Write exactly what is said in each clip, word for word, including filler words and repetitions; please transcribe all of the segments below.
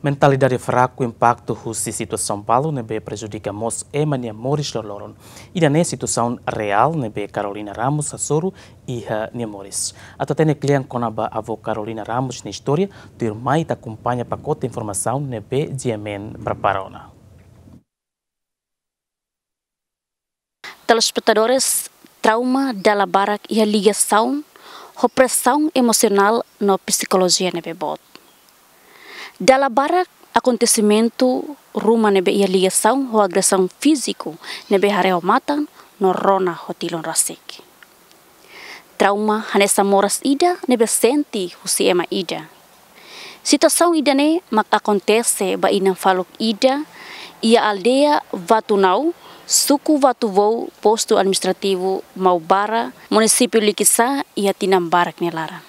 Mentalidade fraku impaktu husi situasaun balu ne'ebé prejudika mós ema nia moris loroloron. Ida-ne'e situasaun reál ne'ebé Carolina Ramos hasoru iha nia moris. Atu hatene kle'an kona-ba avó Carolina Ramos nia istória, tuirmai ita akompaña pakote informasaun ne'ebé G M N prepara ona. Telespetadores, trauma dala barak iha ligasaun ho presaun emosionál no psikolojia ne'ebé boot. Dala barak akontesimentu ruma ne'ebé iha ligasaun ho agresaun fíziku ne'ebé haree ho matan no rona ho tilun rasik. Trauma hanesan moras ida ne'ebé sente husi ema ida. Situasaun ida-ne'e mak akontese ba inan faluk ida iha aldeia Vatunau, suku Vatuvou, postu administrativu Maubara, munisípiu Likisá, iha tinan barak nia laran.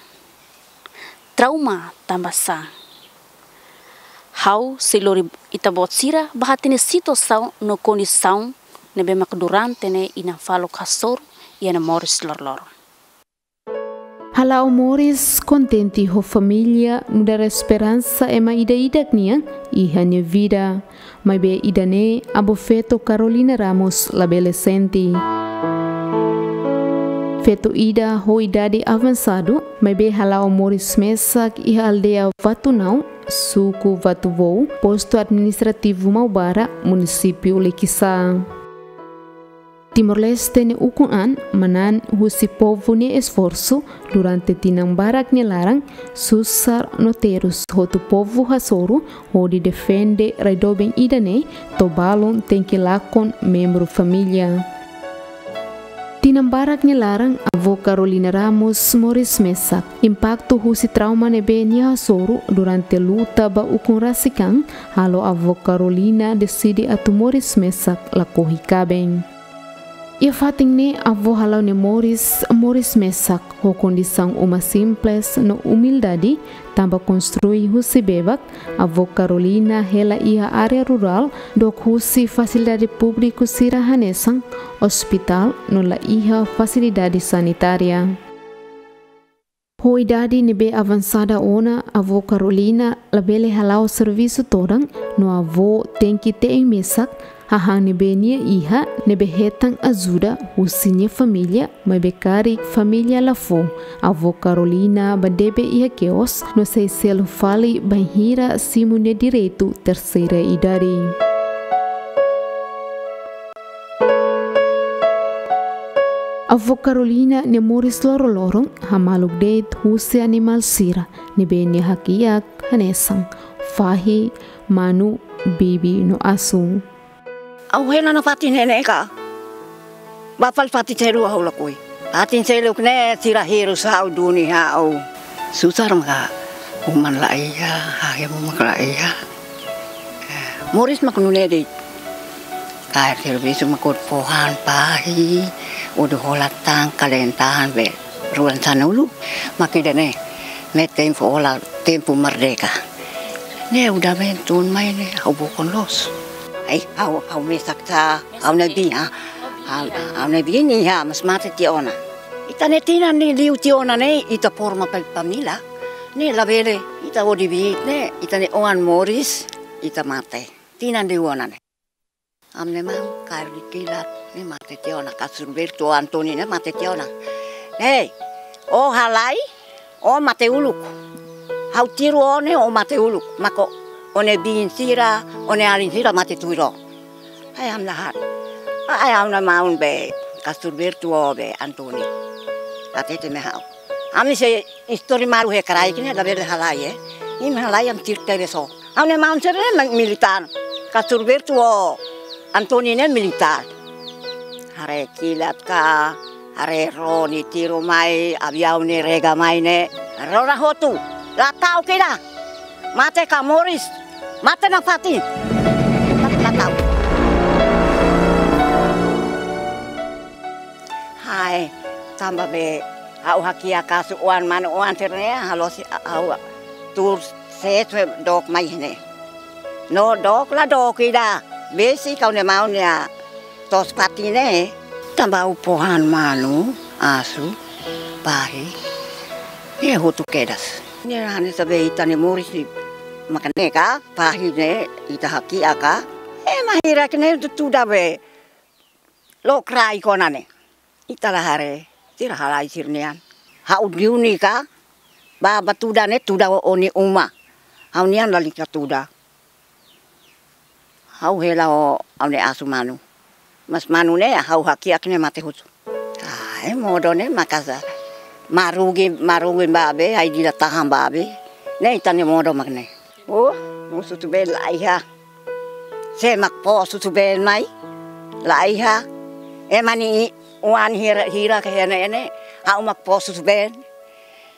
Trauma tanba sá? Ha'u sei lori ita-boot sira ba hatene situasaun no kondisaun ne'ebé mak durante ne'e inan faluk hasoru iha nia moris loroloron. Hala'o moris kontente ho família nu'udar esperansa ema ida-idak nian iha nia vida. Maibé ida-ne'e avó feto Carolina Ramos labele sente. Feto ida ho idade avansadu, maibé hala'o moris mesak iha aldeia Vatunau, suku Vatuvou, postu administrativu Maubara, munisípiu Likisá. Timor-Leste nia ukun-an manán husi povu nia esforsu durante tinan barak nia laran, susar no terus hotu povu hasoru hodi defende rai doben ida-ne'e, to'o balun tenke lakon membru família. Tinan barak nia laran, avó Carolina Ramos moris mesak. Impaktu husi trauma ne'ebé nia hasoru durante luta ba ukun rasik an, halo avó Carolina deside atu moris mesak lakohi kaben. Iha fatin ne'e avó hala'o nia moris, moris mesak ho kondisaun uma simples no umildade, tanba konstrui husi bebak, avó Carolina hela iha área rurál, dook husi fasilidade públiku sira hanesan ospitál no la iha fasilidade sanitária. Ho idade ne'ebé avansada ona, avó Carolina labele hala'o servisu todan, no avó tenke te'in mesak hahán ne'ebé nia iha, ne'ebé hetan ajuda husi nia família, maibé karik família la fó. Avó Carolina bá debe iha kios, no sei selu fali bainhira simu nia direitu terseira idade. Avó Carolina nia moris loroloron hamaluk de'it husi animál sira ne'ebé nia hakiak hanesan fahi, manu, bibi no asu. Ha'u hela nafatin ne'e ka. Bá fali fatin seluk ha'u lakohi. Fatin seluk ne'e sira hirus ha'u, duni ha'u. Susar maka uma la iha, hahemu maka la iha. Moris mak nune'e de'it. Kaer servisu mak hodi fó han fahi, hodi hola tan, kaleen tan be. Ruan sanulu, mak ida-ne'e. Ne'e tempu hola, tempu merdeka. Ne'e udah ben tun mai ne'e, ha'u bokon loos. Ai, ha'u, ha'u mesak sa, ha'u-nia biin, ha. Ha'u, ha'u-nia biin ne'e, ha, mas mate tiha ona. Ita-nia tinan ne'e liu tiha ona ne'e, ita forma pa-, família. Ne'e labele, ita hodi biin ne'e, ita-nia oan moris, ita mate. Tinan liu ona ne'e. Ami-nia maun kaer kilat, ne'e mate tiha ona, Kasur Bertu, Antoni ne'e mate tiha ona. Hei, ó halai, ó mate uluk. Ha'u tiru ó ne'e, ó mate uluk. Mak ó-nia biin sira, ó-nia alin sira mate tuir ó. Ai, ami la haat. Ai, ha'u-nia maun be, Kasur Bertu ó be, Antoni. Hatete mai ha'u. Ami sei istori malu he kraik ne'e, labele halai, eh. Imi halai ami tiru tebes ó. Ha'u-nia maun sira ne'e ma-, militár. Kasur Bertu ho Antoni ne'e militár. Haree kilat ka, haree ró nia tiru mai, aviaun ne'e rega mai ne'e. Rona hotu, la ta'uk ida. Mate ka moris, mate nafatin. La, la ta'uk. Hai, tanba be, ha'u hakiak asu oan manu oan sira ne'e, halo si, ha'u tuur sees dook mai ne'e. No dook la dook ida. Besik ha'u-nia maun nia toos fatin ne'e. Tanba ha'u fó han manu, asu, fahi. Ne'e hotu kedas. Ne'e hanesan be ita-nia moris ne'e. Mak ne'e ka, fahi ne'e, ita hakiak ka. Ema hirak ne'e tuda be. Lokraik ona ne'e. Ita la haree, sira halai sira-nian. Ha'u diuni ka, ba, ba tuda ne'e, tuda ó-nia uma. Ha'u-nian lalika tuda. Ha'u hela ho ha'u-nia asu manu. Mas manu ne'e ha'u hakiak ne'e mate husu. Ah, e modo ne'e maka'as. Marugi, marugi ba be, ai dila tahan ba be. Ne'e ita-nia modo mak ne'e. Oh, mosu tu be laiha. Sé mak fó susubeen mai, laiha. Ema nia oan hira, hira ke hene ene, ha'u mak fó susubeen.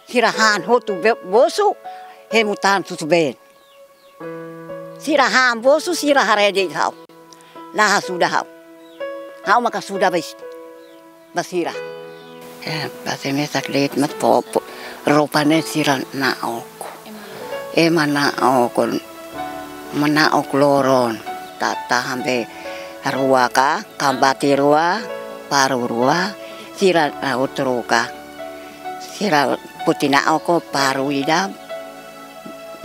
Sira han hotu be-, bosu, hemu tan susubeen. Sira han bosu, sira haree de'it ha'u. La hasuda ha'u. Ha'u maka suda bes. Ba sira. Eh, ba sira mesak de'it mak fó, fó. Roupa ne'e sira na'ok. Ema na'ok, ema na'ok loron. Ta, tahan be rua ka, kambati rua, paru rua, sira, ah, utru ka. Sira puti na'ok paru ida,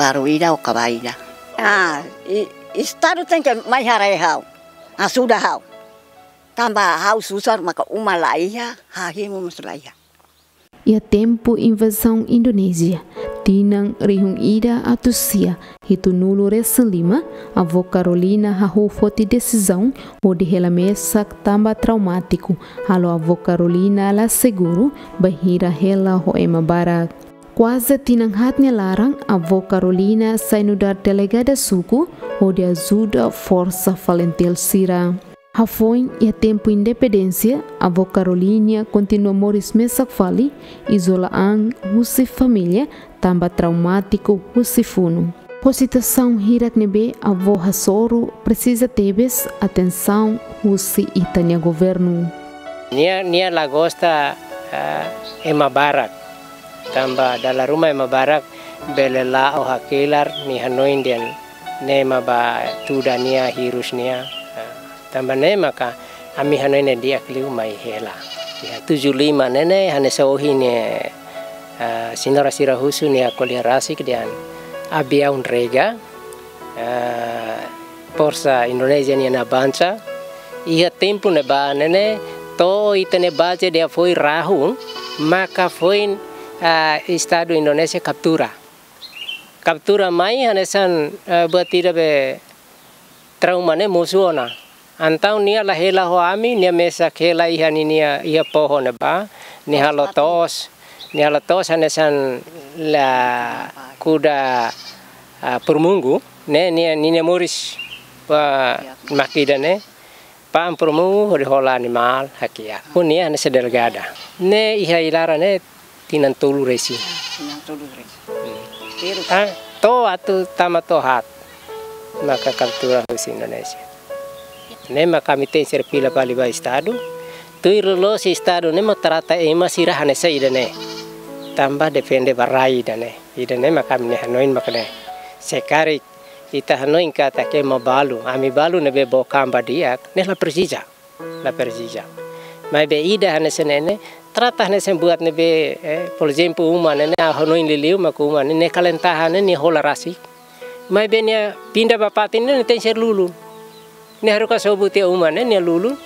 paru ida ou kaba ida. Ah, i, Estadu tenke mai haree ha'u. Ah, suda ha'u. Tanba ha'u susar maka uma laiha, hahimu mós laiha. Iha tempu invazaun Indonézia, tinan rihun ida atus sia hitunulu resin lima, avó Carolina hahú foti desizaun hodi hela mesak tanba traumátiku, halo avó Carolina la seguru bainhira hela ho ema barak. Kuaze tinan haat nia laran, avó Carolina sai nu'udar delegada suku hodi ajuda forsa FALINTIL sira. Hafoin iha tempu independénsia, avó Carolina kontinua moris mesak fali, izola an husi família, tanba traumátiku husi funu. Ho situasaun hirak ne'ebé avó hasoru presiza tebes atensaun husi ita-nia governu. Nia, nia la gosta, ah, ema barak. Tanba dala ruma ema barak bele la'o hakelar nia hanoin dehan ne'e mak ba tuda nia, hirus nia. Ah, tanba ne'e maka ami hanoin ne'e di'ak liu mai hela. Iha tujuh lima ne'e ne'e hanesan ohin ne'e, ah, señora sira husu nia ko'alia rasik dehan aviaun rega, ah, forsa Indonézia nian avansa. Iha tempu ne'ebá ne'e ne'e to'o ita-nia baze dehan foin rahun, maka foin, ah, Estadu Indonézia kaptura. Kaptura mai hanesan, eh, buat ida be trauma ne'e mosu ona. Entaun nia la hela ho ami, nia mesak hela iha ninia, iha pohon ne'ebá, nia halo to'os, nia halo to'os hanesan la kuda, ah, purmungu, ne'e, nia, ninia moris, ah, mak ida-ne'e. Pa'an purmungu hodi hola animál hakiak. Ho nia hanesan delegada. Ne'e iha ilaran ne'e tinan tolu resin. Tinan tolu resin. Hmm. Terus? Ah, to'o atu tama to'o haat. Maka kaptura husi Indonézia. Ne'e maka ami tenke fila fali ba Estadu. Tuir loloos Estadu ne'e mak trata ema sira hanesan ida-ne'e. Tanba defende ba rai ida-ne'e. Ida-ne'e maka ami-nia hanoin maka ne'e. Se karik ita hanoin katak ema balu, ami balu ne'ebé book an ba di'ak, ne'e la presiza, la presiza. Maibé ida hanesan ne'e ne'e, trata hanesan buat ne'ebé, eh, por ezemplu, uma ne'e ne'e, ha'u hanoin liuliu mak uma ne'e ne'e kalen tahan ne'e nia hola rasik. Maibé nia pinda ba fatin ne'e nia tenke ser lulun. Nia haruka sobu tiha uma ne'e nia lulun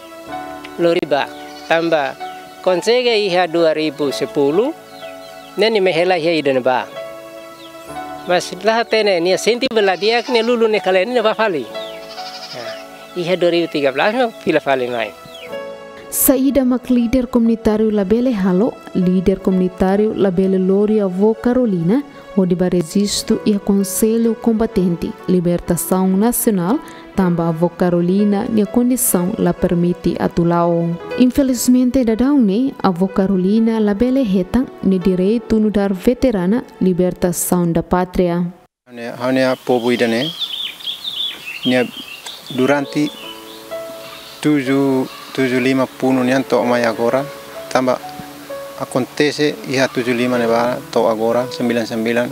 lori bá. Tanba konsege iha dua ribu sepuluh, ne'e nia mai hela iha ida-ne'ebá. Mas la hatene nia sente bela di'ak nia lulun nia kalen nia bá fali. Nah, iha dua ribu tiga belas nia fila fali mai. Saida mak líder komunitáriu labele halo, líder komunitáriu labele lori avó Carolina hodi bá rejistu iha Konsellu Kombatente Libertasaun Nasionál, tanba avó Carolina nia kondisaun la permite atu la'o. Infelizmente daudaun ne'e, avó Carolina labele hetan nia direitu nu'udar veterana libertasaun da pátria. Ha'u-nia, ha'u-nia povu ida-ne'e, nia durante tujuh, tujuh lima funu nian to'o mai agora, tanba akontese iha tujuh lima ne'ebá to'o agora, sembilan sembilan,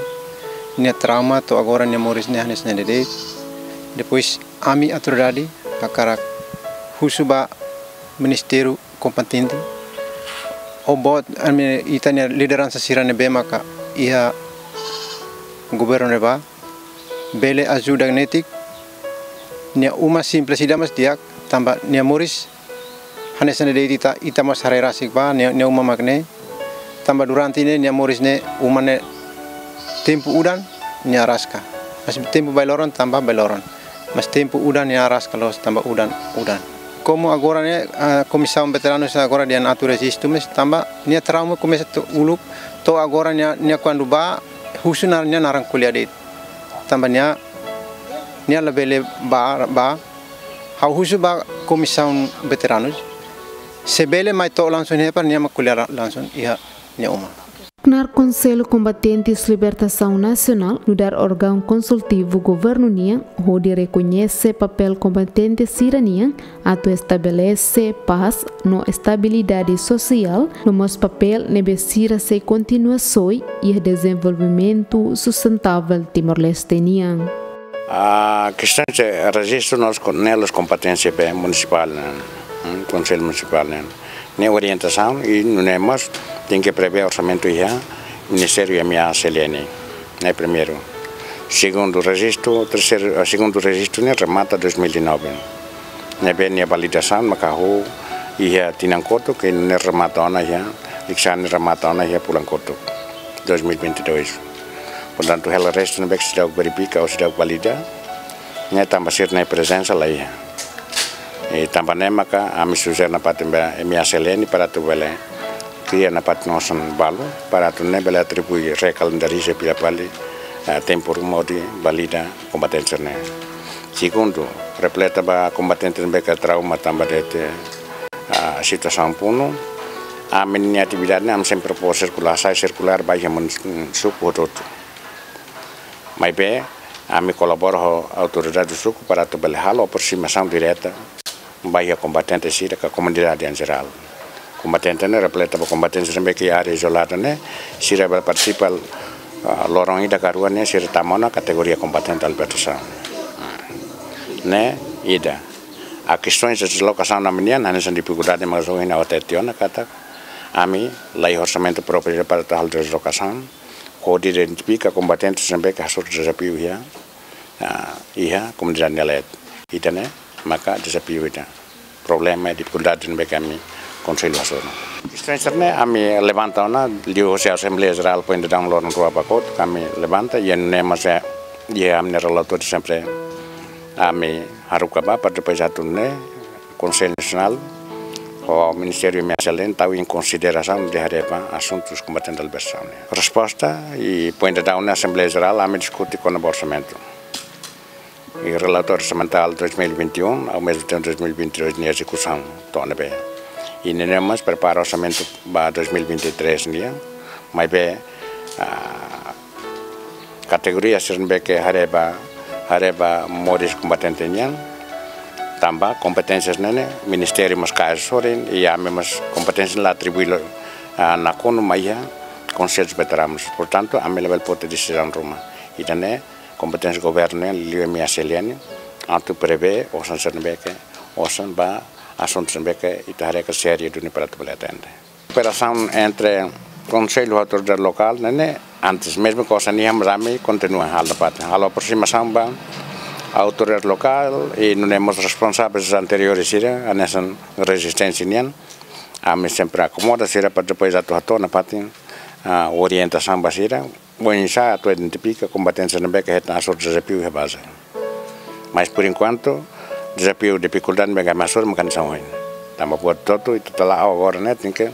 nia trauma to'o agora nia moris ne'e hanesan ne'e de'it. Depois ami autoridade hakarak husu ba ministériu kompetente, ou boot ami ita-nia lideransa sira ne'ebé maka iha governu ne'ebá, bele ajuda netik, nia uma simples ida mas di'ak, tanba nia moris hanesan de'it ita, ita mós haree rasik ba, nia, nia uma mak ne'e, tanba durante ne'e, nia moris ne'e, uma ne'e tempu udan, nia araska. Mas tempu bailoron, tanba bailoron. Mas tempu udan, nia araska loos, tanba udan, udan. Komu agora ne'e, ah, Komisaun Veteranus agora dehan atu rejistu mós, tanba nia trauma komesa to'o uluk, to'o agora nia, nia kuandu bá, husu nia, nia naran ko'alia de'it. Tanba nia, nia labele bá, bá, ha'u husu ba Komisaun Veteranus. Se bele mai to'o langsung iha ne'ebá, nia mak ko'alia langsung iha nia uma. Knaar Konsellu Kombatentes Libertasaun Nasionál nu'udar órgaun konsultivu governu nian hodi rekoñese papél kombatente sira-nian atu estabelese pás no estabilidade sosiál, no mós papél ne'ebé sira sei kontinua soe iha dezenvolvimentu sustentável Timor-Leste nian. Ah, kestaun de rejistu ne'e la'ós kompeténsia ba munisipál, ne'e, hmm, Konsellu Munisipál, ne'e. Ne'e orientasaun i nune'e mós tenke prevee orsamentu iha Ministériu M A C L N. Ne'e primeiru. Segundu rejistu, terseiru, ah, segundu rejistu ne'e remata dois mil e nove. Ne'ebé nia validasaun maka hahú iha tinan kotuk, ke ne'e remata ona iha, liksá ne'e remata ona iha fulan kotuk dois mil e vinte e dois. Portantu, hela restu ne'ebé ke seidauk verifika ou seidauk valida, ne'e tanba sira-nia prezensa la iha. I tanba ne'e maka ami sujere nafatin ba M A C L N para atu bele kria nafatin osan balu, para atu nune'e bele atribui, rekalendariza fila fali, eh, tempu ruma hodi valida kombatente ne'e. Segundu, refleta ba kombatente ne'ebé ke trauma tanba de'it, ah, situasaun funu, ami-nia atividade ne'e ami sempre fó sirkulár, sai sirkulár ba iha mun-, suku hotu-hotu. Maibé, ami kolabora ho autoridade suku para atu bele halo aproximasaun direta ba iha kombatente sira ka komunidade em geral. Kombatente ne'e refleta ba kombatente sira ne'ebé ke área izolada ne'e, sira bele partisipa, ah, loron ida ka rua ne'e, sira tama ona kategoria kombatente libertasaun. Ne'e ida. A kestaun de deslokasaun ami-nian, hanesan difikuldade mak ohin ha'u hatete ona katak, ami la iha orsamentu própriu para atu halo deslokasaun, hodi identifika kombatente sira ne'ebé ke hasoru dezafiu iha, ah, iha komunidade nia leet. Ida-ne'e maka dezafiu ida. Problema, difikuldade ne'ebé ke ami Konsellu hasoru. Kestaun sira-ne'e ami levanta ona, liuhosi Asembleia Jerál foin daudaun loron rua ba kotuk, ami levanta, i nune'e mós iha ami-nia relatóriu sempre ami haruka ba, para depois atu nune'e Konsellu Nasionál ho Ministériu M A C L N tau em konsiderasaun hodi haree ba asuntus kombatente libertasaun ne'e. Resposta, i foin daudaun ne'e Asembleia Jerál, ami diskute kona-ba orsamentu. I relatóriu orsamentál dois mil e vinte e um, ao mesmo tempo dois mil e vinte e dois nia ezekusaun to'o ne'ebé. I nune'e mós prepara orsamentu ba dois mil e vinte e três nian, maibé, ah, kategoria sira ne'ebé ke haree ba, haree ba moris kombatente nian, tanba kompeténsia ne'e, Ministériu mós kaer sorin, i ami mós kompeténsia la atribui lo, ah, nakonu mai iha Konsellu Veteranus. Portantu, ami labele foti desizaun ruma. Ida-ne'e kompeténsia governu nian, liuliu M A C L N, atu prevee osan sira ne'ebé ke, osan ba asuntu sira ne'ebé ke ita haree ke sériu duni para atu bele atende. Kooperasaun entre Konsellu ho autoridade lokál, ne'e, ne'e antes, mezmu ke osan iha, mas ami kontinua halo parte. Halo aproximasaun ba autoridade lokál, i nune'e mós responsavel anteriór sira, hanesan rezisténsia nian. Ami sempre akomoda sira para depois atu hato'o nafatin, ah, orientasaun ba sira. Oinsá atu identifika kombatente sira ne'ebé ke hetan hasoru dezafiu iha baze. Mas, por enquanto, dezafiu, difikuldade ne'ebé ke ami hasoru mak hanesan ohin. Tanba buat hotu-hotu, ita tau agora ne'e, tenke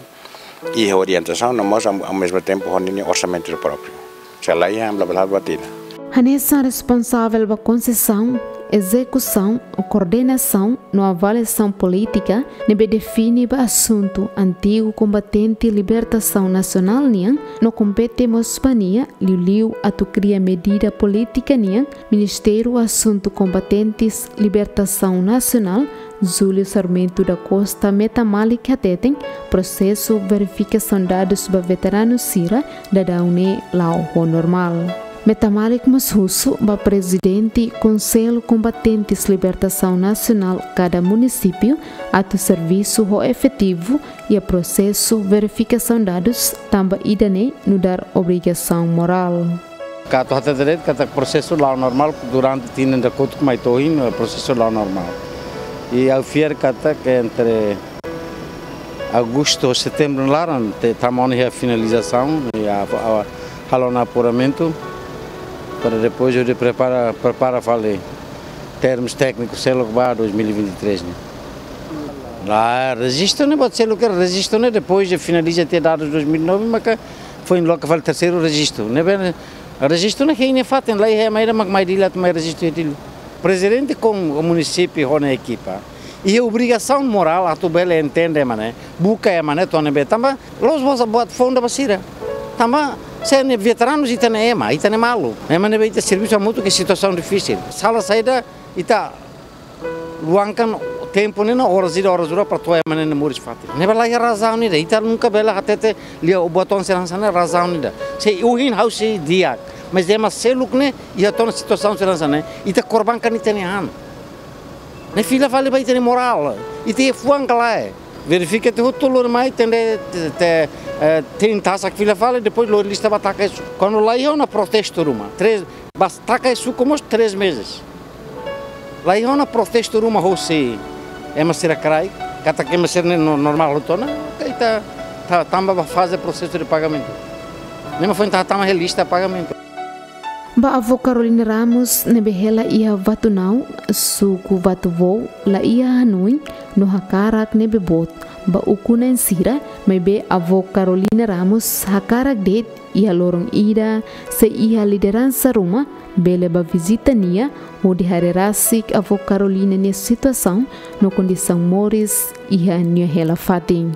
iha orientasaun, no mós ao, ao mesmo tempo, ho ninia orsamentu própriu. Se la iha, ami labele halo buat ida. Hanesan responsavel ba konsesaun, ezekusaun, koordenasaun, no avaliasaun polítika, ne'ebé define ba asuntu antigu kombatente libertasaun nasionál nian, no kompete mós ba nia, liuliu atu kria medida polítika nian, Ministériu Asuntu Kombatentes Libertasaun Nasionál, Júlio Sarmento da Costa Metamalik hateten, prosesu verifikasaun dadus ba veteranu sira daudaun ne'e la'o ho normál. Metamalik mós husu ba prezidente Konsellu Kombatentes Libertasaun Nasionál kada munisípiu atu servisu ho efetivu iha prosesu verifikasaun dadus, tanba ida-ne'e nu'udar obrigasaun morál. Atu hatete de'it katak prosesu la'o normál durante tinan ida kotuk mai to'o ohin, eh, prosesu la'o normál. I ha'u fiar katak entre agostu, setembru nia laran, ita tama ona iha finalizasaun, i a, a, halo ona apuramentu, para depois hodi prepara, prepara fali termus téknikus seluk ba dois mil e vinte e três ne'e. Ah, rejistu ne'e, buat seluk ke rejistu ne'e, depois de finaliza tiha dadus dois mil e nove, maka foin loke fali terseiru rejistu. Ne'ebé rejistu ne'e hein iha fatin, laiha ema ida mak mai Dili atu mai rejistu iha Dili. Prezidente ho munisípiu ho nia ekipa iha obrigasaun morál atu bele entende ema ne'e, buka ema ne'e to'o ne'ebé. Tanba la'ós buat, buat foun ba sira. Tanba se ne'e veteranus ita-nia ema, ita-nia maluk. Ema ne'ebé ita servisu hamutuk iha situasaun difisil. Sala saida ita luangkan tempu ne'e no oras ida, oras rua para to'o ema ne'e moris fatin. Ne'ebé laiha razaun ida, ita nunka bele hatete lia buat oan sira hanesan ne'e razaun ida. Se ohin ha'u sei di'ak, mas ema seluk ne'e iha tiha ona situasaun sira hanesan ne'e, ita korbankan ita-nia an. Ne'e fila fali ba ita-nia morál, ita iha fuan ka lae. Verifika tiha hotu, lori mai, tenke, te, te, eh, tein tasak fila fali, depois lori lista ba taka iha suku. Kuandu laiha ona protestu ruma, três, ba taka iha suku mós três meses. Laiha ona protestu ruma hosi ema sira kraik, katak ema sira ne'e no-, normál hotu ona, ita, ita ta-, tama ba faze prosesu de pagamentu. Ne'e mak foin ita hatama iha lista pagamentu. Ba avó Carolina Ramos ne'ebé hela iha Vatunau, suku Vatuvou, laiha hanoin no hakarak ne'ebé boot ba ukun-na'in sira, maibé avó Carolina Ramos hakarak de'it iha loron ida, se iha lideransa ruma bele bá vizita nia, hodi haree rasik avó Carolina nia situasaun no kondisaun moris iha nia hela fatin.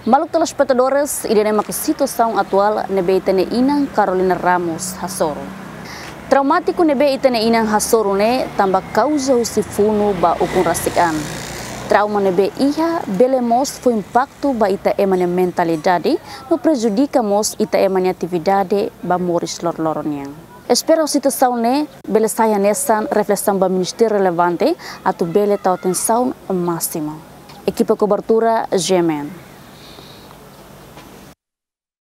Maluk telespetadores, ida-ne'e maka situasaun atuál ne'ebé ita-nia inan Carolina Ramos hasoru. Traumátiku ne'ebé ita-nia inan hasoru ne'e tanba kauza husi funu ba ukun rasik an. Trauma ne'ebé iha bele mós fó impaktu ba ita ema nia mentalidade, no prejudika mós ita ema nia atividade ba moris loroloron nian. Espera situasaun ne'e bele sai hanesan reflesaun ba ministériu relevante atu bele tau atensaun másimu. Ekipa kobertura, G M N.